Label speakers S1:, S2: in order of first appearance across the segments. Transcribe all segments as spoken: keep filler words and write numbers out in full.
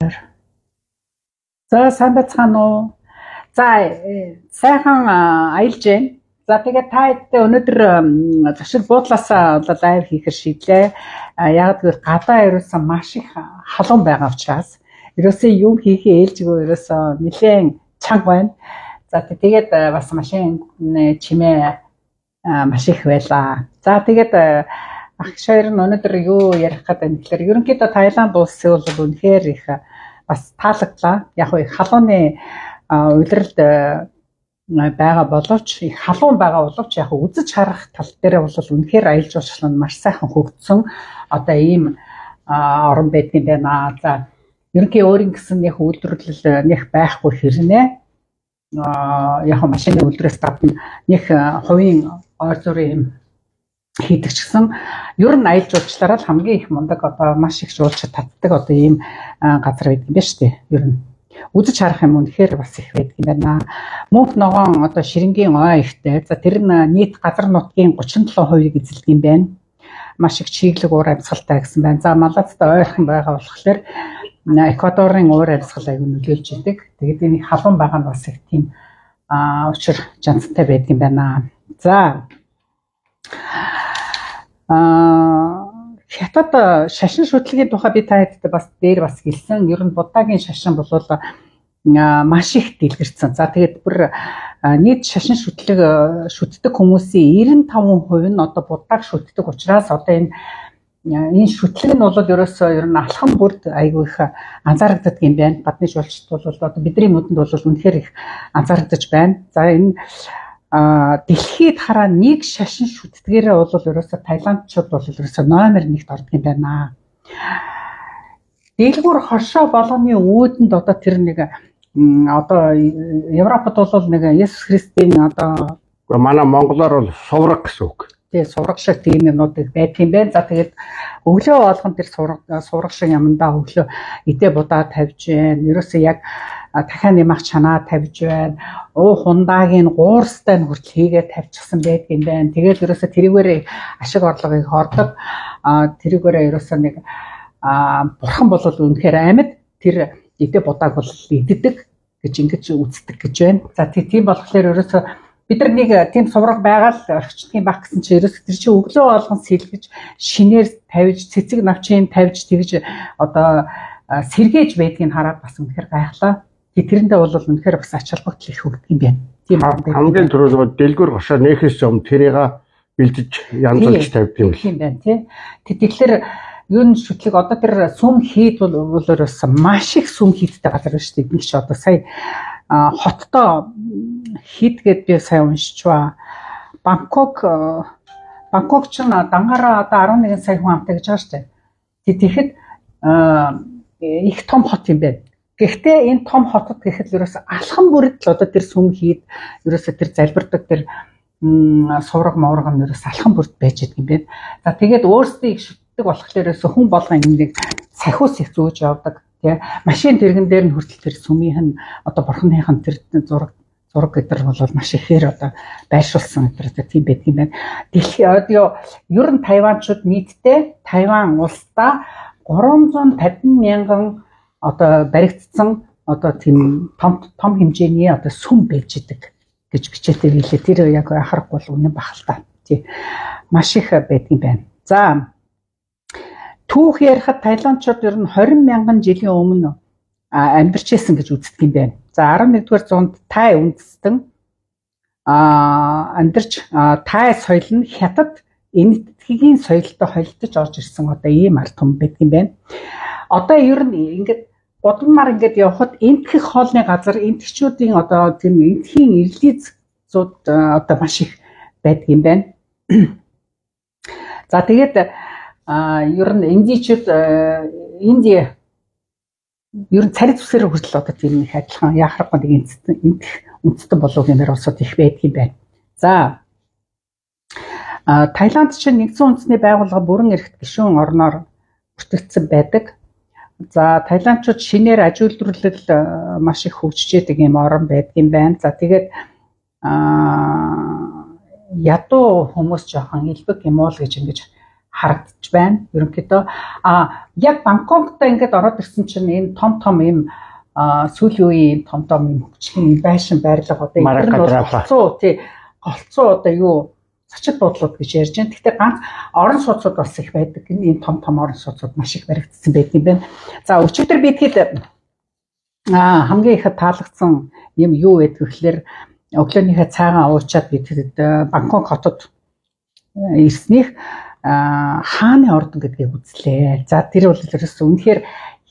S1: За сайн байцгаана уу? За сайхан аялж байна. За тэгээд та хэдтэй өнөөдөр зочид буудлаасаа бол лайв хийхээр шийдлээ. Яг гэвэл гадаа ерөөсөн маш их халуун байгаа учраас ерөөсөө юу хийхээ ээлжгүй ерөөсөө нэлээд чанга байна. За тэгээд бас машин чимээ маш их байлаа. За тэгээд ах шойр нь өнөөдөр юу ярих гэдэг юм тэгэхээр ерөнхийдөө Таиланд улсын бол үнэхээр их бас таалагдлаа. Яг их халууны улиралд байгаа боловч их халуун байгаа боловч яг үзэж харах тал дээр бол үнэхээр аялал жуулчлал нь маш сайхан хөгжсөн одоо ийм орон байдгийн байна. За ерөнхий өөрийн гэсэн яг үйлдвэрлэл нэг байхгүй хэрнээ яг машины үйлдвэрээс гадна нэг хувийн ойр зүрийн юм хийдэг ч гэсэн ер нь аялал жуулчлалаар хамгийн их мундаг одоо маш их жуулчид татдаг одоо ийм газар байдаг юм байна шүү дээ. Ер нь үзэж харах юм үнэхээр бас их байдаг юм байна. Мөнх ногоон одоо ширэнгийн ой ихтэй. За тэр нь нийт газар нутгийн гучин долоо хувийг эзэлдэг юм байна. Маш их чиглэг уур амьсгалтай гэсэн байна. За Малазтай ойрхон байгаа болохоор Эквадорын уур амьсгал аягүй нөлөөлж идэг. Тэгээд энэ халуун байгаа нь бас их тийм учир жанцтай байдаг юм байна. За Аа хятад шашин шүтлэгийн тухай би та хэдтэй бас дээр бас хэлсэн. Ер нь Буддагийн шашин бол маш их дэлгэрсэн. За тэгээд бүр нийт шашин шүтлэг шүтдэг хүмүүсийн девяносто пять хувь нь одоо Буддаг шүтдэг учраас одоо энэ энэ шүтлэг нь бол ерөөсөө ер нь алхам бүрд айгүй их анзаарэгддэг юм байна. Гадны жуулчид бол одоо бидний нүдэнд бол үнэхээр их анзаарэгдэж байна. За энэ А дэлхийд хараа нэг шашин шүтдгээрээ бол ерөөсө Таиландчууд бол ерөөсө номер нэгт ордог юм байна. Дэлгүүр хошоо болгоны үүдэнд одоо тэр нэг одоо Европод бол нэг Есүс Христийн одоо
S2: манай монголоор бол сувраг гэсэн үг.
S1: Тэгээ сувраг шиг тийм юмнууд байдаг юм байна. За тэгээд өглөө болгон тэр сувраг сувраг шиг юмдаа өглөө идэ будаа тавьж байна. Ерөөсө яг дахиад нэмах чанаа тавьж байна. Уу хундаагийн гуурстай нь хүртэл хийгээд тавьчихсан байдаг юм байна. Тэгээд ерөөсө тэрүүгээр ашиг орлогыг хордог. А тэрүүгээр ерөөсө нэг бурхан бол үнэхээр амьд тэр идэ будааг бол иддэг гэж ингэж үздэг гэж байна. За тийм болохоор ерөөсө бид нар нэг тийм сувраг байгаа л орчдгийн баг гэсэн чинь ерөөсө тэр чинь өглөө болгон сэлгэж шинээр тавьж цэцэг навчин тавьж тэгж одоо сэргээж байдгийг хараад бас үнэхээр гайхлаа. Тэрэндээ бол үнэхээр бас ач холбогдол их өгдөг юм байна. Тийм
S2: хамгийн түрүүнд дэлгүүр гошоо нээхээс юм тэрийг бэлдэж янзлж тавьдаг юм
S1: юм байна тий. Тэгэхээр юу н шүтлэг одоо тэр сүм хийд бол бас маш их сүм хийдтэй газар байна шүү дээ. Би ч одоо сая хоттоо хийд гэд би сая уншиж ба Бангкок Бангкок ч дангаараа одоо арван нэгэн сая хүн амтай гэж байгаа шүү дээ. Тэгэхэд их том хот юм байна. Гэхдээ энэ том хотод гэхэд ерөөсө алхам бүрд л одоо тэр сүм хийд ерөөсө тэр залбирдаг тэр сувраг моврог нь ерөөсө алхам бүрд байж байгаа юм байна. За тэгээд өөрсдөө их шүтдэг болохоор ерөөсө хүн болгон нэг сахиус их зөөж явдаг тий. Машин тэргэн дээр нь хүртэл тэр сүмийнх нь одоо бурханыхан тэр зураг зураг гэдэр бол маш ихээр одоо байршуулсан гэдэг тийм байдаг юм байна. Дэлхийн одоо ер нь Тайванчууд нийтдээ Тайван улсдаа гурамзуй тавин мянган одоо баригдсан одоо тийм том том хэмжээний одоо сүм байж идэг гэж бичээтэй билээ. Тэр яг анхаарахгүй бол үнэн бахал та. Тий. Маш их байдаг юм байна. За түүх ярихад Таиландчууд ер нь двадцать мянган жилийн өмнө амьдарч ирсэн гэж үздэг юм байна. За арван нэгдүгээр зуунд Тай үндэстэн амьдарч Тай соёл нь хятад энэтхэгийн соёлтой холилдож орж ирсэн одоо ийм ард түмэн байдаг юм байна. Одоо ер нь ингээд Будмаар ингээд явхад энтхэх хоолны газар энтгчүүдийн одоо тийм энтхийн ирлиз зууд одоо маш их байдаг юм байна. За тэгээд ер нь индичүүд Индия ер нь царит үсээр хүртэл одоо тийм их адилхан яхахгүй нэг энтх үндэстэн болов гэмээр улсууд их байдаг юм байна. За Таиланд чинь нэгдсэн үндэсний байгууллага бүрэн эрхт гишүүн орноор бүртгэгдсэн байдаг. За Таиландчууд шинээр аж үйлдвэрлэл маш их хөгжиж байгаа юм орон байдаг юм байна. За тэгээд ядуу хүмүүс жоохон илбэг юм уу л гэж ингэж харагдаж байна. Ерөнхийдөө а яг Бангкокт ингээд ороод ирсэн чинь энэ том том юм сүүлийн үеийн том том юм хөгжлийн байшин байрлал одоо энэ нь голцоо тий голцоо одоо юу зочид буудлууд гэж ярьж байна. Гэхдээ ганц орон сууцуд бас их байдаг. Энэ том том орон сууцуд маш их баригдсан байдаг юм байна. За өчигдөр би тэгэхэд а хамгийн их таалагдсан юм юу вэ гэхээр өглөөнийхөө цайгаа уучаад би тэгэхэд Бангкок хотод ирснийх хааны ордон гэдгийг үзлээ. За тэр бол ерөөсөө үнэхээр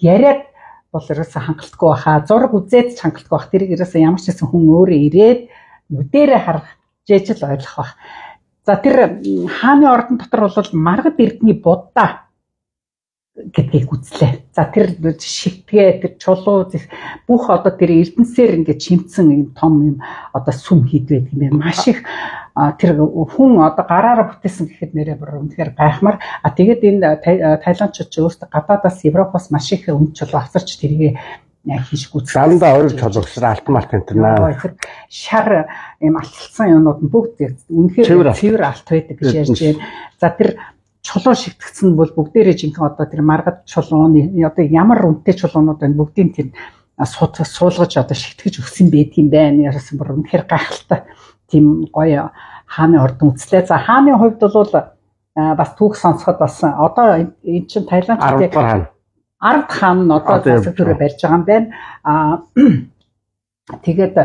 S1: яриад бол ерөөсөө хангалтгүй баха. Зураг үзээд ч хангалтгүй бах. Тэрийг ерөөсөө ямар ч гэсэн хүн өөрөө ирээд нүдэрээ харах жижиг л ойлгох бах. За тэр хааны ордон дотор бол маргад эрдний Будда гэдгийг үзлээ. За тэр шигтгээ тэр чулуу бүх одоо тэр эрдэнсээр ингээд чимцэн юм том юм одоо сүм хийдвэ гэдэг юм. Маш их тэр хүн одоо гараараа бүтээсэн гэхэд нэрээ бүр үнэхээр гайхмар. А тэгээд энэ Таиландчууд ч өөрсдөө гадаадаас Европоос маш их үн чулуу авчирч тэрийг хийж гүйцэтгэсэн.
S2: Дандаа ориг чулуусраа алтан малт энэ
S1: тэр шар юм алтсан юмнууд нь бүгд үнэхээр цэвэр алт байдаг гэж ярьж байна. За тэр чулуу шигтгэсэн бол бүгдээрээ жинхэнэ одоо тэр маргад чулууны одоо ямар үнэтэй чулуунууд байна бүгдийн тэр суулгаж одоо шигтгэж өгсөн байдгийн байна. Яасан бүр үнэхээр гайхалтай тийм гоё хааны ордон үзлээ. За хааны хувьд бол бас түүх сонсоход бас одоо энэ чинь Таиланд
S2: хаан
S1: ард хаан нь одоо засаг төрөө барьж байгаа юм байна. А тэгээд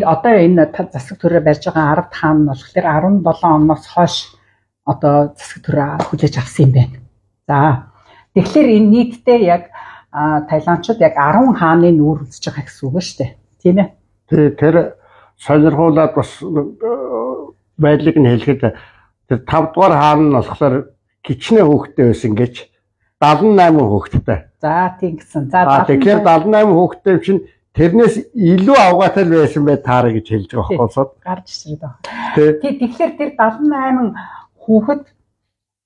S1: одоо энэ засаг төрөө барьж байгаа ард хаан нь болохоор арван долоон оноос хойш одоо засаг төрөө хүлээж авсан юм байна. За тэгэхээр энэ нийтдээ яг Таиландчууд яг арван хааны нүүр үзэж байгаа гэсэн үг шүү дээ. Тийм ээ.
S2: Тий тэр сонирхуулаад бас байдлыг нь хэлэхэд тэр тав дугаар хаан нь болохоор кичнээ хүүхдтэй байсан гэж дагалан найман хүүхдтэй.
S1: За тийм гэсэн. За
S2: тэгэхээр дагалан найман хүүхдтэй чинь тэрнээс илүү авгаатай байсан бай таараа гэж хэлж байгаа болохоос
S1: гарч ирээд байна. Тий тэгэхээр тэр дагалан найман хүүхэд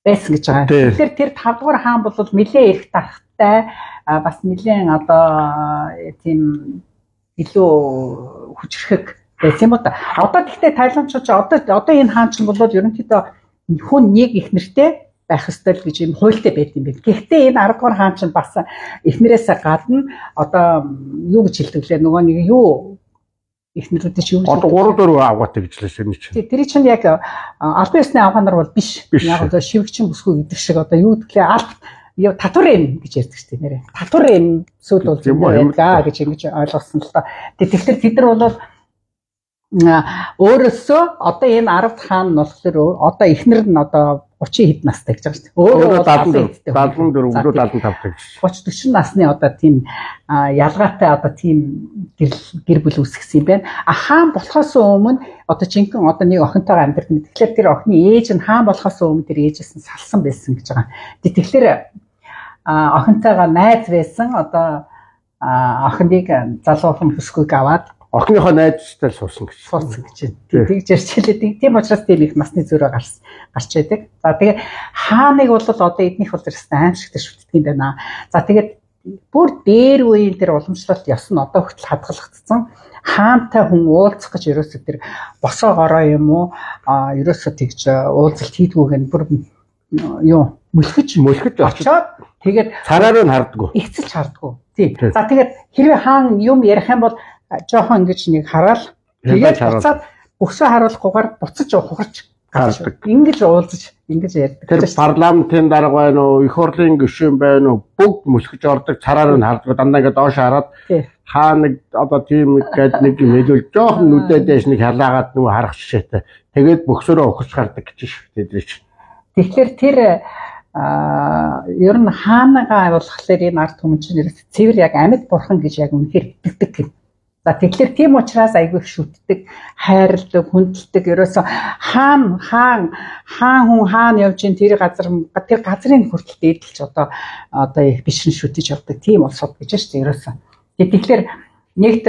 S1: байсан гэж байгаа. Тэгэхээр тэр тав дугаар хаан бол нэлээд эрх тархтай бас нэлээд одоо тийм илүү хүчрхэг байсан юм уу та. Одоо гэхдээ Таиландчууд одоо одоо энэ хаан чинь бол ерөнхийдөө хүн нэг их нэртэй байх ёстой гэж юм хуультай байт юм байна. Гэхдээ энэ арав дугаар хаан чинь бас эхнэрээс гадна одоо юу гэж хэлдэг лээ нөгөө нэг юу эхнэрүүдээ чи юу
S2: одоо гурав дөрөв авгаатай гэж лээс энэ чинь.
S1: Тэр чинь яг албан ёсны авгаанаар бол биш. Яг одоо шивгчин бүсгүй гэдэг шиг одоо юу гэхлээр алб яа татварын гэж ярьдаг шүү дээ нэрээ. Татварын сүл бол байдаг гэж ингэж ойлгосон л та. Тэгэхээр тэд нар бол өөрөөсөө одоо энэ арав хаан нь болохоор одоо эхнэр нь одоо гучин хэд настай гэж байгаа шүү дээ.
S2: Өөрөө дагалан дөрөв, өвдөө дагалан тав гэж.
S1: гучин дөрвөн насны одоо тийм ялгаатай одоо тийм гэр бүл үүсгэсэн юм байна. А хаан болохоос өмнө одоо жинхэнэ одоо нэг охинтойгоо амьдардаг. Тэгэхээр тэр охины ээж нь хаан болохоос өмнө тэр ээжээс нь салсан байсан гэж байгаа. Тэгэхээр охинтойгоо найз байсан одоо охиныг залуухан хөсгөөг аваад
S2: охиныхоо найзтай суусан гэж.
S1: Суусан гэж байна. Тэгж ярьчлээ. Тийм учраас тийм их насны зөрөө гарч гарч байдаг. За тэгээ хааныг бол одоо эднийх бол тэрсэн аимшигтай шүтдэг юм байна. За тэгээд бүр дээр үеийн тэр уламжлалт ёс нь одоо хүртэл хадгалагдсан. Хаантай хүн уулзах гэж ерөөсөө тэр босоо гороо юм уу ерөөсөө тэгж уулзалт хийдгүүг нь бүр юу мөлхөж
S2: мөлхөж
S1: очоод тэгээд
S2: цараар нь хардггүй.
S1: Игцэлж хардггүй. Тийм. За тэгээд хэрвээ хаан юм ярих юм бол жоохон ингэж нэг хараал тэгээд буцаад өсөө харуулахгүйгээр буцаж ухарч гардаг. Ингэж уулзаж ингэж ярьдаг.
S2: Тэр парламентын дарга байна уу, их хурлын гишүүн байна уу, бүгд мөлхөж ордог, цараар нь харддаг. Дандаа ингэ доош хараад хаа нэг одоо тийм гээд нэг юм хэлүүл жоохон нүдээ дэш нэг халаагаад нөгөө харах жишээтэй. Тэгээд бөксөрөө ухарч гардаг гэж шүү дээ.
S1: Тэгэхээр тэр а ер нь хаанагаа болохоор энэ ард түмэн чинь цэвэр яг амьд бурхан гэж яг үнэхээр итгэдэг гэх. За тэгэхээр тийм учраас айгүй их шүтдэг, хайрладаг, хүндэлдэг. Ерөөсөө хаан хаан хаан хүн хаан явж ин тэр газар тэр газрын хүртэл дээдлж одоо одоо их бишрэн шүтэж явдаг. Тийм улсууд гэж шүү дээ ерөөсөө. Тэгэхээр нэгт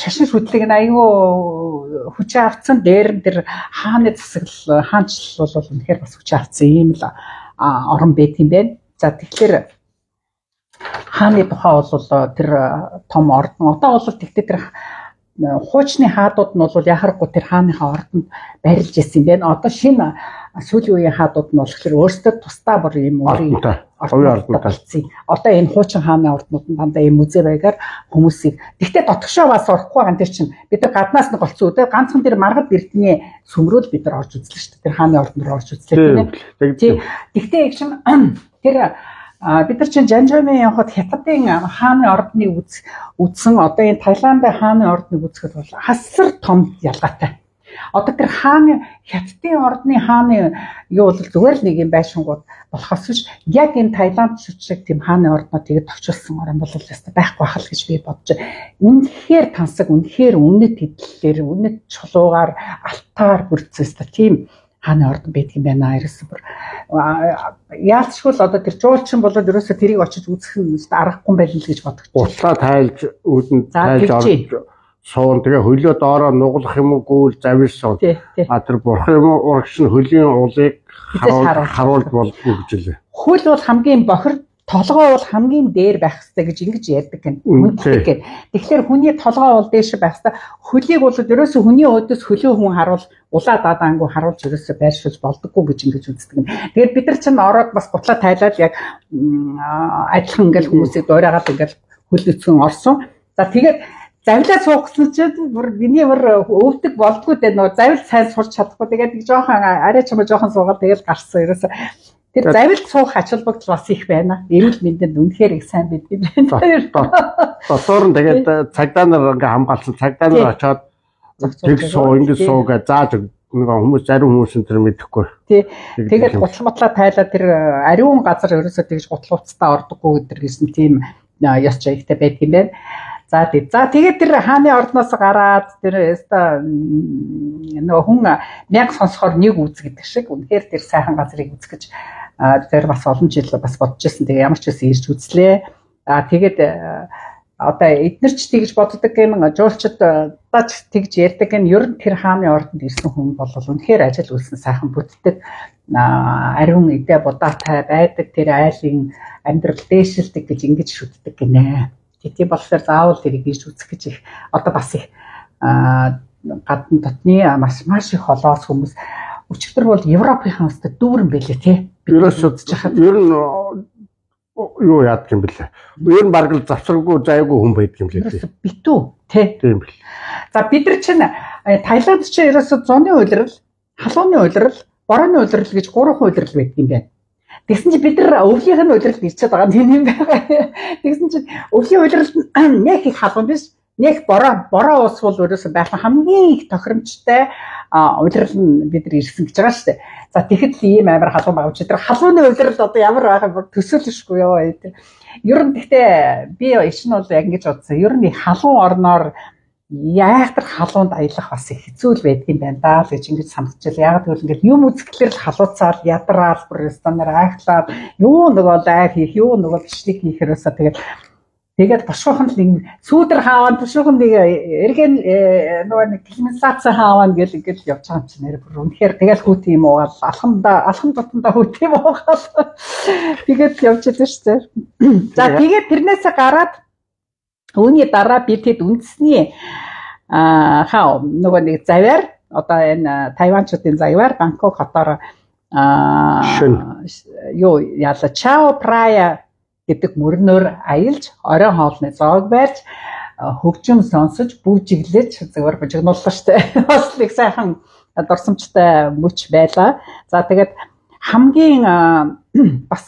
S1: шашин шүтлэг нь айгүй хүчээ авцсан дээр тэр хааны засаглал хаанчлал бол үнэхээр бас хүчээ авцсан юм л орон байт юм байна. За тэгэхээр хааны тухай бол тэр том ордон одоо бол тэгтээ тэр хуучны хаадууд нь бол яхахгүй тэр хааныхаа ордонд барилж ирсэн юм байна. Одоо шинэ сүүлийн үеийн хаадууд нь болохоор өөрсдөө тусдаа бүр юм өөрийн
S2: ордод болсон.
S1: Одоо энэ хуучин хааны орднууд нь дандаа ийм музей байгаар хүмүүсийг гэхдээ дотгошоо бас орохгүй байгаа тэр чинь бид нар гаднаас нь голцсон үедээ ганцхан тэр маргад эрдний сүмрүүл бид нар орж үзлээ шүү дээ. Тэр хааны ордон руу орж үзлээ тийм ээ. Гэхдээ яг чинь тэр бид нар чинь Жанжамын явхад хятадын хааны ордны үз үзсэн одоо энэ Таиландын хааны ордныг үзэхэд бол хасар том ялгаатай. Одоо тэр хааны хятадын ордны хааны юу бол зүгээр л нэг юм байшингууд болохоос биш яг энэ Таиланд шиг тийм хааны ордноо тэгээд товчулсан орн бол яста байхгүй хал гэж би бодож байна. Үнэхээр тансаг, үнэхээр үнэт хэдлэлээр, үнэт чулуугаар, алтаар бүрдсэн тийм хааны ордон байдаг юм байна. Ерөөсөө бүр яалтчгүй л одоо тэр жуулчин болоод ерөөсөө тэрийг очиж үзэх нь аргагүй юм байл л гэж бодож байна.
S2: Утлаа тайлж үүдэн тайлж орж суун тэгээ хөлөө доороо нуглах юм уу завирсан. А тэр бурхан юм урагш нь хөлийн уулыг харуулж болдгоо гэж лээ.
S1: Хөл бол хамгийн бохир, толгой бол хамгийн дээр байх хэрэгтэй гэж ингэж ярьдаг гэнэ. Тэгэхээр хүний толгой бол дээш байх хэрэгтэй. Хөлийг бол ерөөсөө хүний өөдөөс хөлөө хүн харуул улаа дадаангуу харуулж ерөөсөө байршуулж болдоггүй гэж ингэж үздэг юм. Тэгээд бид нар чинь ороод бас гутлаа тайлаад яг адилхан ингээл хүмүүсийг дуурайгаад ингээл хөл өцгөн орсон. За тэгээд завлаа суухсан чинь бүр миний бүр өвдөг болдгоо дээ нөө завл сайн сурч чадахгүй тэгээд жоохон арай чамаа жоохон суугаад тэгээд гарсан ерөөсө тэр завл суух ач холбогдол бас их байна. Эрүүл мэндэд үнэхээр их сайн бид юм байна.
S2: Дотоор нь тэгээд цагдаа нар ингээ хамгаалсан цагдаа нар очоод тэг суу ингэ суу гэж зааж нэг хүмүүс зарим хүмүүс энэ мэдэхгүй.
S1: Тий. Тэгээд гутлматлаа тайлаа тэр ариун газар ерөөсө тэгж гутлууцтаа ордоггүй гэдэг гэсэн тийм яс чигтэй байдаг юм байна. За тий. За тэгээд тэр хааны ордноос гараад тэр өста нөгөө хүн мянга сонсохоор нэг үз гэдэг шиг үнэхээр тэр сайхан газрыг үзэх гэж тэр бас олон жил бас бодож ирсэн. Тэгээ ямар ч байсан ирж үзлээ. А тэгээд одоо эднэр ч тэгж боддог юм жуулчд даж тэгж ярьдаг юм ер нь тэр хааны ордонд ирсэн хүн бол үнэхээр ажил үйлсэн сайхан бүтдэг ариун эдэ будаатай байдаг тэр айлын амьдрал дээшилдэг гэж ингэж шүтдэг гинэ. Тийм болохоор заавал тэрийг ирж үзэх гэж их одоо бас их гадна дотны маш маш их холоос хүмүүс өчигдөр бол Европынхаа өстө дүүрэн байлээ тий.
S2: Ерөөсөө ер нь юу яадаг юм бэлээ. Ер нь баг л завсаргүй зайгүй хүн байдаг юм лээ тий.
S1: Битүү тий.
S2: Тийм бэл.
S1: За бид нар чинь Таиланд чинь ерөөсөө зуны улирал, халууны улирал, борооны улирал гэж гурван улирал байдаг юм байна. Тэгсэн чи бид нар өвлийнх нь улиралд ирчээд байгаа тийм юм байгаа. Тэгсэн чи өвлийн улиралд нэг их халуун биш, нэг бороо бороо ус бол өөрөөсөө байх хамгийн их тохиромжтой улирал нь бид нар ирсэн гэж байгаа шүү дээ. За тэгэхэд л ийм амар халуун байгаа ч тэр халууны улирал одоо ямар байгаа төсөөлөшгүй ёо. Ер нь гэхдээ би иш нь бол яг ингэж бодсон. Ер нь халуун орноор яахтар халуунд аялах бас их хэцүү л байдаг юм байна даа л гэж ингэж санагдчихлаа. Яг тэгвэл ингээд юм үзэхлээр л халууцаал, ядраал, бүр стандар айхлаад юу нөгөө лайв хийх, юу нөгөө бичлэг хийхээрээсээ тэгээд тэгээд бошгохон л нэг сүүдэр хааван бошгохон нэг эргэн нөгөө нэг климатизац хааван гэл ингээд явж байгаа юм чинь нэр бүр үнэхээр тэгэл хүүт юм уу алхамда алхам дотондоо хүүт юм уу тэгээд явж байгаа шүү дээ. За тэгээд тэрнээсээ гараад үүний дараа би тэд үндэсний аа хаа нөгөө нэг завьар одоо энэ Тайванчуудын завьар Бангкок хотоор аа юу яла Чао Прая гэдэг мөрнөөр аялж оройн хоолны зоог барьж хөгжим сонсож бүжиглэж зүгээр бужигнууллаа штэ. Бас их сайхан дурсамжтай мөч байла. За тэгээд хамгийн бас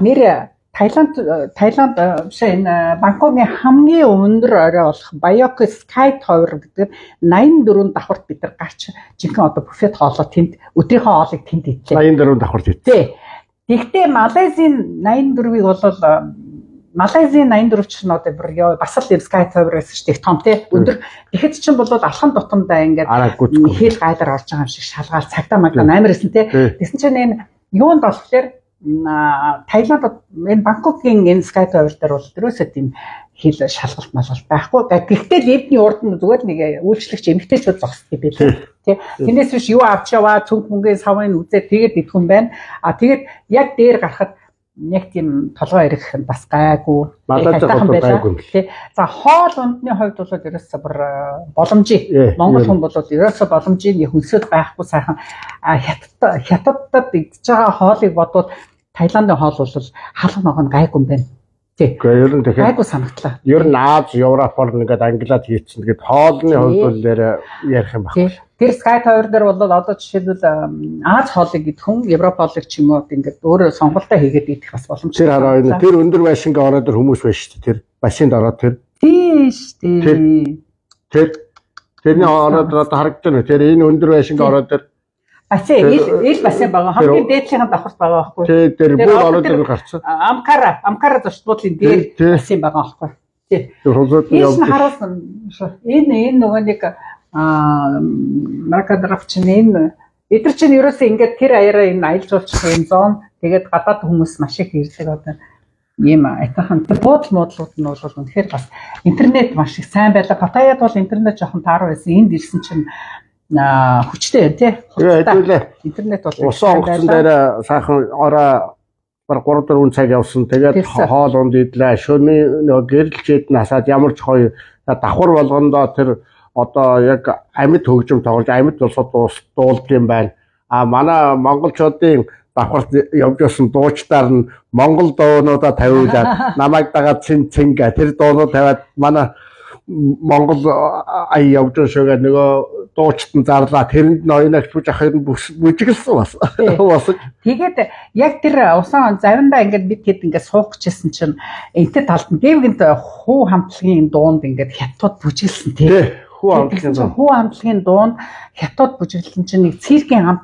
S1: нэр Таиланд Таиланд биш энэ Бангкокын хамгийн өндөр орой болох Bayok Sky Tower гэдэг найман дөрвөн давхарт бид нар гарч жинхэнэ одоо буфет хоолоо тэнд өдрийнхөө хоолыг тэнд идлээ.
S2: найман дөрвөн давхарт идлээ.
S1: Тэгтээ Малайзийн найман дөрвийг бол Малайзийн найман дөрв ч нь одоо бүр ёо бас л Sky Tower-ээс ч их том тий өндөр. Тэгэхэд чинь бол алхан тутамдаа ингээд хэл гайлаар орж байгаа юм шиг шалгаал цагтаа магтаа амар эсэн тий. Тэсэн чинь энэ юунд болохоор Таиланд энэ Бангкокын энэ Sky Tower дээр бол ерөөсөө тийм хэл шалгалт малгалт байхгүй. Гэхдээ левний урд нь зүгээр нэг үйлчлэгч эмэгтэйчүүд зогсдог юм билээ. Тэ. Тэрнээс биш юу авч яваа цүнх мөнгөний савын үзээд тэгээд идэх юм байна. А тэгээд яг дээр гарахад яг тийм толгой ирэх бас гайгүй.
S2: Надад гайгүй.
S1: Тий. За хоол ундны хувьд бол ерөөсөө бүр боломжийг Монгол хүн бол ерөөсөө боломжийг хөлсөд гайхгүй сайхан хятад хятадд идж байгаа хоолыг бодвол Таиландын хоол бол халах ногоон гайгүй юм байна. Тий.
S2: Ер нь тэгэхээр
S1: гайгүй санагдлаа.
S2: Ер нь Аз, Европ бол ингээд англиад хийчихсэн. Тэгээд хоолны хувьд бол ярих юм байна.
S1: Тэр Sky Tower дээр бол одоо жишээлбэл Аз хоолыг идэх хүн Европ хоолыг ч юм уу ингээд өөрөө сонголтоо хийгээд идэх бас боломжтой.
S2: Тэр хараа энэ тэр өндөр байшингийн ороод тэр хүмүүс байж шүү дээ. Тэр машинд ороод тэр.
S1: Тийш тий.
S2: Тэр тэрний ороод одоо харагдаж байна. Тэр энэ өндөр байшингийн ороод тэр
S1: Ачаа ил ил бассейн байгаа. Хамгийн дээдлийнхэн давхарт байгаа байхгүй.
S2: Тий, тэр бүр ороод тэр гарцсан.
S1: Амкара, Амкара зочдлын дээр бассейн байгаа байхгүй. Тий. Энэ харуулсан. Энэ энэ нөгөө нэг аа маркадрафч энэ эдгээр чинь ерөөсөө ингээд тэр аяараа энэ аялал жуулчлалын энэ зон тэгээд гадаад хүмүүс маш их ирдэг одоо ийм айтахан буудал муудлууд нь бол үнэхээр бас интернет маш их сайн байлаа. Паттаяд бол интернет жоохон тааруу байсан. Энд ирсэн чинь а хүчтэй тий. Интернет бол
S2: усан онгоцон дээр сайхан ороо баг гурав дөрвөн цаг явсан. Тэгээд хоол унд идлээ. Шөнийн нөгөө гэрэлчээд насаад ямар ч гоё давхар болгондоо тэр одоо яг амьд хөгжим тоглож амьд улсууд дуулдаг юм байна. А манай монголчуудын давхарт явж байсан дуучдаар нь монгол дуунуудаа тавиулаад намайг дагаад цэн цэнгэ тэр дуунууд тавиад манай монгол ая явж шүүгээ нөгөө дуучтан зарлаа тэрэнд ноёнагч бүж ахын бүжиглсэн бас.
S1: Тэгээд яг тэр усан завиндаа ингээд бид хэд ингээд суух гэжсэн чинь энтэй талд нь дэвгэнт хуу хамтлагийн дуунд ингээд хятад бүжиглсэн тий.
S2: Хүү хамтлагийн дуун.
S1: Хүү хамтлагийн дуун хятад бүжиглэн чинь нэг циркийн хамт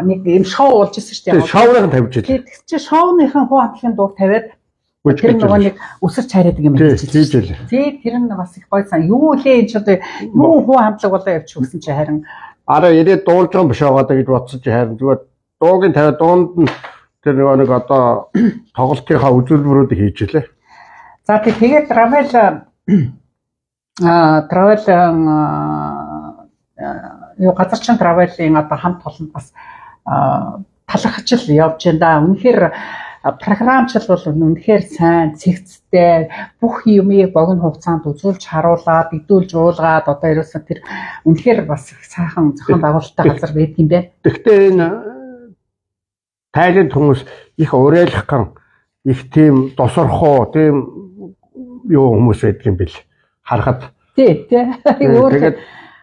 S1: нэг юм шоу болж ирсэн шүү дээ.
S2: Шоуныхан тавьж ирлээ.
S1: Тэгээд чи шоуныхан хүү хамтлагийн дууг тавиад тэр нөгөө нэг өсөрч хараадаг юм
S2: хийж хэлээ.
S1: Тий, тэр нь бас их гоё сан. Юу лээ энэ ч одоо юу хүү хамтлаг болоо явчих гэсэн чи харин
S2: араа ирээд дуулж байгаа юм биш байгаа гэж бодсон чи харин зүгээр дуугийн тавиад дуунд нь тэр нөгөө нэг одоо тоглолтынхаа үзүүлбэрүүдийг хийж илээ.
S1: За тэгээд travel а travel юу газарчин travel-ийн одоо хамт олон бас талархаж л явж байна да. Үнэхээр програмчлал бол үнэхээр сайн, цэгцтэй, бүх юмыг богино хугацаанд үзүүлж харуулад, идүүлж уулгаад одоо ерөөсөө тэр үнэхээр бас сайхан зохион байгуулалттай газар байдаг юм байна.
S2: Гэхдээ энэ Тайланд хүмүүс их уриалгах их тийм досорхоо, тийм юу хүмүүс байдаг юм бэл. Харахад.
S1: Тий, тий. Тэгээд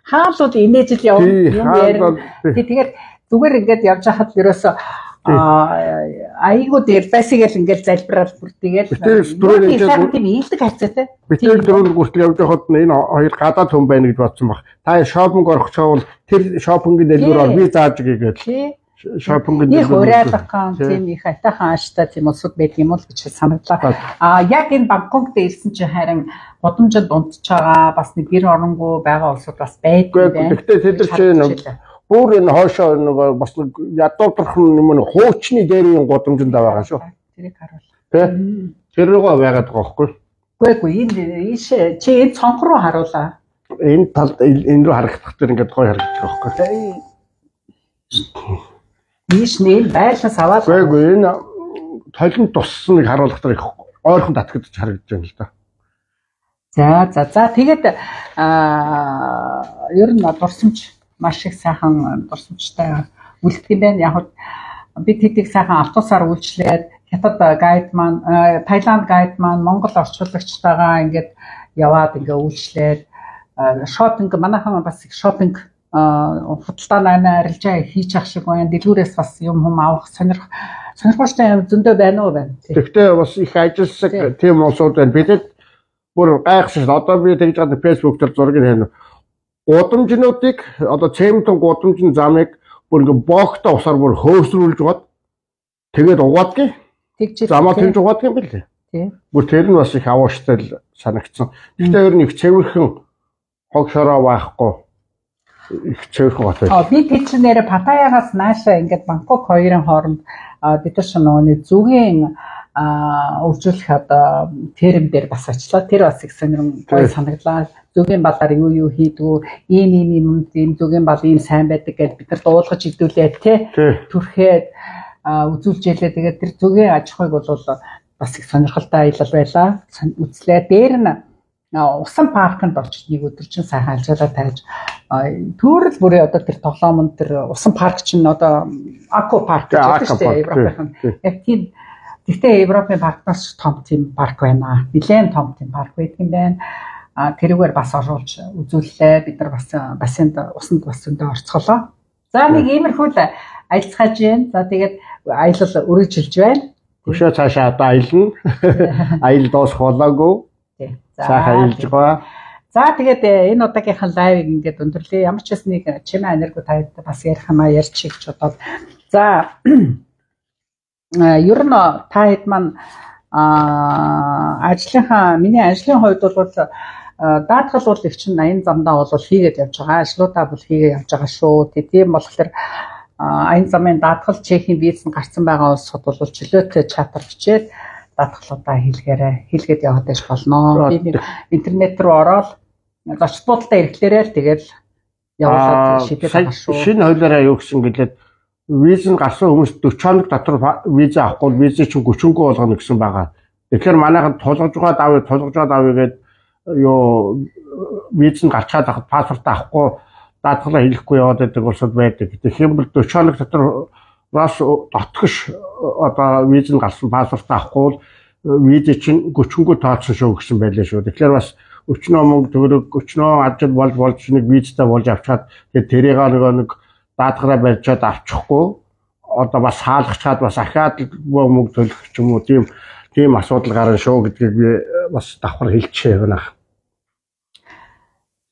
S1: хаалууд инээж л явна юм ярина. Тэгээд зүгээр ингээд явж хахад ерөөсөө айгуу дээр басигээл ингээл залбирал бүр тэгэл тийм ийдэг хайцаатай.
S2: Битэл дөрөв хүртэл явж байхад энэ хоёр гадаад хүн байна гэж бодсон баг. Та шопинг орох чавал тэр шопингийн дэлгүүрээр би зааж гээгээл. Шопингийн
S1: дэлгүүр уриалгах ган тийм их атахан ааштай тийм улсууд байдаг юм уу гэж санагдлаа. А яг энэ Бангкок дээр ирсэн чинь харин годомжинд унтж байгаа бас нэг гэр оронгүй байгаа улсууд бас байдаг байна.
S2: Гэхдээ тэд чинь бүр энэ хоошоо нөгөө бас ядуудрхан юм нэг хуучны дээрийн годомжинд байгаа шүү.
S1: Тэрийг харуул.
S2: Тэ? Тэр рүүгээ байгаад байгаа байхгүй.
S1: Үгүй ээ энэ ийш чи энэ цонх руу харуулаа.
S2: Энэ талд энэ рүү харагдах тэр ингээд гоё харагдаж байгаа байхгүй.
S1: Ийш нэ байлаас аваад.
S2: Үгүй энэ толинд туссныг харуулахдаа их ойрхон татгадж харагдаж байна л да.
S1: За за за тэгээд аа ер нь дурсамж маш их сайхан дурсамжтай үлдэх юм байна. Яг бид хэдийг сайхан автобусаар үйлчлээд хятад гайд маань, Таиланд гайд маань Монгол орчуулагчтайгаа ингээд яваад ингээ үйлчлээд шопинг манайхан бас их шопинг худалдааны арилжаа хийж ах шиг байна. Дэлгүүрээс бас юм хүм авах сонирх сонирхолтой юм зөндөө байна уу байна.
S2: Тэгвэл бас их ажилласан тийм улсууд байна. Бидэд бүр гайхшиж одоо би тэгж байгаа Facebook дээр зургийг хийнэ. Гудамжнуудыг одоо цементэн гудамжны замыг бүр ингээ боогтой усаар бүр хөөсрүүлж гоод тэгээд угаадгийг замаа тэгж угаадаг юм билээ.
S1: Тийм.
S2: Бүр тэр нь бас их авууштай санагдсан. Гэхдээ ер нь их цэвэрхэн хог шороо байхгүй их цэвэрхэн гот байл.
S1: Аа би тийч нэрэ Паттаягаас нааша ингээд Бангкок хоёрын хооронд бид нар шинэ нөгөө зүгийн а үржүүлэх одоо терм дээр бас очлаа. Тэр бас их сонирм гоё санагдлаа. Зүгийн балаар юу юу хийдгүү, ийм ийм юм ийм зүгийн бал ийм сайн байдаг гэж бид нар дуулгаж идүүлээ тий. Түрхээд үзүүлж ялээ. Тэгээд тэр зүгийн аж ахуйг бол бас их сонирхолтой аялал байлаа. Үзлээ. Дээр нь усан паркнд очиж нэг өдөр чинь сайхан алжаалаа тавьж төрөл бүрээ одоо тэр тоглоомонд тэр усан парк чинь одоо Аку парк гэж байна шүү дээ. Европын. Яг тийм гэхдээ Европын паркнаас том тийм парк байна. Нилээн том тийм парк байдаг юм байна. А тэрүүгээр бас оруулж үзүүллээ. Бид нар бас бассейнд усанд бас зөндөө орцголоо. За нэг иймэрхүү л аялцгааж байна. За тэгээд аялал өргөжлж байна.
S2: Өшөө цаашаа одоо аялна. Аял дуусах болоогүй.
S1: Тий.
S2: Цаашаа аялж байгаа.
S1: За тэгээд энэ удаагийнхаа лайвыг ингээд өндөрлөө. Ямар ч нэг чимээ энерги таад бас ярих юм а ярьчих гэж бодоод. За ер нь та хэд маань ажлынхаа миний ажлын хувьд бол даатгал бол их чинь аян замдаа бол хийгээд явж байгаа. Ажлуудаа бол хийгээд явж байгаа шүү. Тийм болохоор аян замын даатгал чехийн виз нь гарсан байгаа улсууд бол чөлөөтэй чатар бичээд даатгалуудаа хийлгээрээ хийлгээд яваад байж болно. Би интернет руу ороод зочд буудалтай ирэхлээрээ л тэгэл явуулаад шийдэж байгаа шүү.
S2: Шинэ хуулиараа юу гэсэн гэлээд виз нь гарсан хүмүүс дөрвөн хоног дотор виз авахгүй виз чинь гүчингүй болгоно гэсэн байгаа. Тэгэхээр манайхад тулгаж байгаа давыг тулгаж байгаа давыг гээд юу виз нь гарчаад авах паспорт авахгүй даатгалаа хийхгүй яваад байдаг улсууд байдаг. Тэгэхээр бол дөрвөн хоног дотор бас дотгош одоо виз нь гарсан паспорт авахгүй виз чинь гүчингүй тооцсон шүү гэсэн байлаа шүү. Тэгэхээр бас өчнөө мөнгө төгрөг өчнөө ажил болж болж нэг визтэй болж авчаад тэгээд тэрийг нэг даатгараа барьчаад авчихгүй одоо бас хаалгачаад бас ахаад мөнгө төлөх ч юм уу тийм тийм асуудал гарна шүү гэдгийг би бас давхар хэлчихээ байна.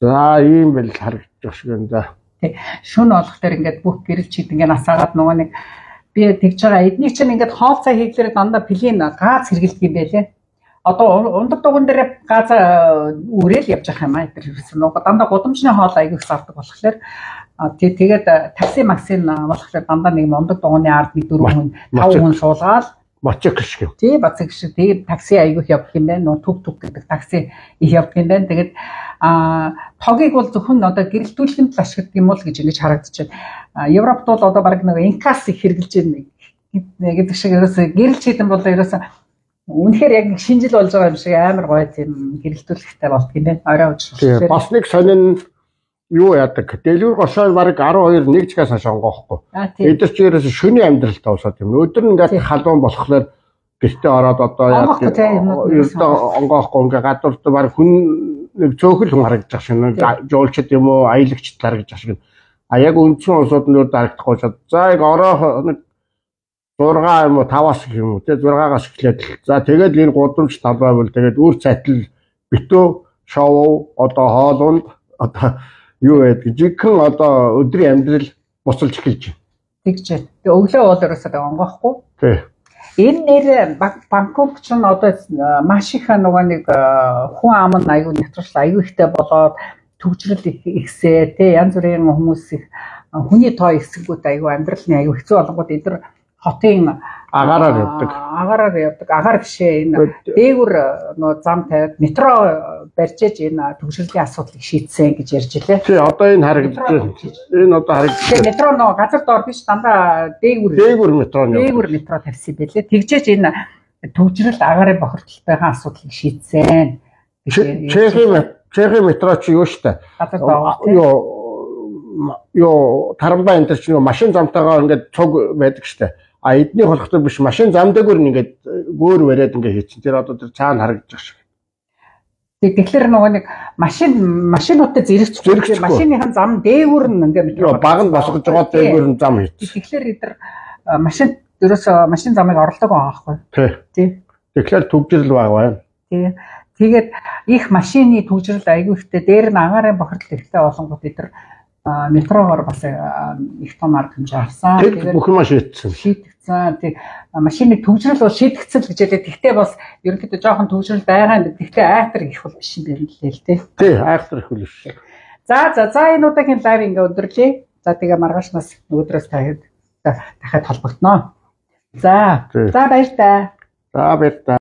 S2: За ийм бэл харагдаж шиг юм да.
S1: Тий. Шүн болохоор ингээд бүх гэрэл чид ингээд насаагаад нөгөө нэг би тэгж байгаа эднийг чинь ингээд хоол цай хийглээр дандаа плийн газ хэргэлдэг юм байлээ. Одоо ундаг дуган дээр газ үрээл явж байгаа юм аа тэр нөгөө дандаа гудамжны хоол аяг их зардаг болохоор тий тэгээд такси максин болохоор дандаа нэг ундаг дуганы ард нэг дөрвөн хүн таван хүн суулгаад
S2: мотоцикл шиг.
S1: Тий мотоцикл шиг тэгээд такси аяг их явдаг юм байна. Нөгөө түг түг гэдэг такси их явдаг юм байна. Тэгээд а тогийг бол зөвхөн одоо гэрэлтүүлэхэд л ашигладаг юм уу гэж ингэж харагдаж байна. Европт бол одоо баг нэг инкас их хэрэгжилж байна гэдэг шиг ерөөсө гэрэлч хийдэн бол ерөөсө үнэхээр яг нэг шинжил болж байгаа юм шиг амар гоё тийм гэрэлтүүлэхтэй болт юм байна. Орой уучлаарай.
S2: Бас нэг сонин юу яадаг. Дэлгүүр гошоо баг арван хоёр нэг чигээс хаш онгоохгүй. Эдгээр чи ерөөсө шөний амьдралтай усаад юм. Өдөр нь ингээд халуун болохоор гэртээ ороод одоо яг ердөө онгоохгүй ингээд гадуурт баг хүн нэг цөөхөл хүн харагдаж байгаа шин жуулчд юм уу аялагчд харагдаж байгаа шин. А яг үндсэн усууд нь дарагдахгүй шат. За яг ороо нэг зураг юм уу таваас юм уу те зурагаас эхлээд. За тэгээд энэ гудамж талбай бол тэгээд үр цайтал битүү шоу одоо хоолунд одоо юу байдаг жигхэн одоо өдрийн амьдрал буцалж эхэлж байна.
S1: Тэгж. Тэгээ өглөө бол ерөөсөө онгоохгүй.
S2: Тий.
S1: Энэ нэр Бангкок ч н одоо маш их нөгөө нэг хүн ам нь аюу нэвтрэл аюу ихтэй болоод төгжрөл ихсээ тий янз бүрийн хүмүүс их хүний тоо ихсэнгүүт аюу амьдралны аюу хэцүү болгоод эдгээр хотын
S2: агаараар явдаг.
S1: Агаараар явдаг. Агаар бишээ энэ дээгүр нөгөө зам тавиад метро барьжээж энэ төгжрөлийн асуудлыг шийдсэн гэж ярьж илээ.
S2: Тий одоо энэ харагдаж байна. Энэ одоо харагдаж байна.
S1: Метро нөгөө газар доор биш дандаа дээгүр
S2: дээгүр метро нь.
S1: Дээгүр метро тавьсан байлээ. Тэгжээж энэ төгжрөл агаарын бохирдолтойгоо асуудлыг шийдсэн.
S2: Чехийн Чехийн метро чи юу штэ.
S1: Газар доор
S2: юу юу тарамбай энэ чинь машин замтайгаа ингээд цуг байдаг штэ. А эдний болохтой биш машин зам дээгүүр ингээд гөөр бариад ингээд хийчихсэн. Тэр одоо тэр цаана харагдаж байгаа шиг.
S1: Тэгэхээр нөгөө нэг машин машинуудтай зэрэгч машиныхан зам дээгүүр нь ингээд
S2: баг нь босгож байгаа дээгүүр нь зам хийчихсэн.
S1: Тэгэхээр эдгээр машин ерөөсөө машин замыг орлог байгаа байхгүй.
S2: Тий. Тэгэхээр төгжрөл баг байна.
S1: Тий. Тэгээд их машины төгжрөл аягүй ихтэй дээр нь агаарын бохирдол ихтэй болонгууд эдгээр метрогоор бас их том арга хэмжээ авсан.
S2: Тэгээд бүх юм шийдсэн.
S1: Шийдэгцэн. Тэг машины төгжрөл бол шийдэгцэн л гэж хэлээ. Тэгтээ бас ерөнхийдөө жоохон төгжрөл байгаа юм. Тэгтээ айхтар их бол биш юм байна л л тий.
S2: Тий, айхтар их биш.
S1: За за за энэ удаагийн лайв ингээ өндөрлөө. За тэгээ маргаашнаас өдрөөс дахиад дахиад холбогдноо. За. За баяр таа.
S2: За баяр таа.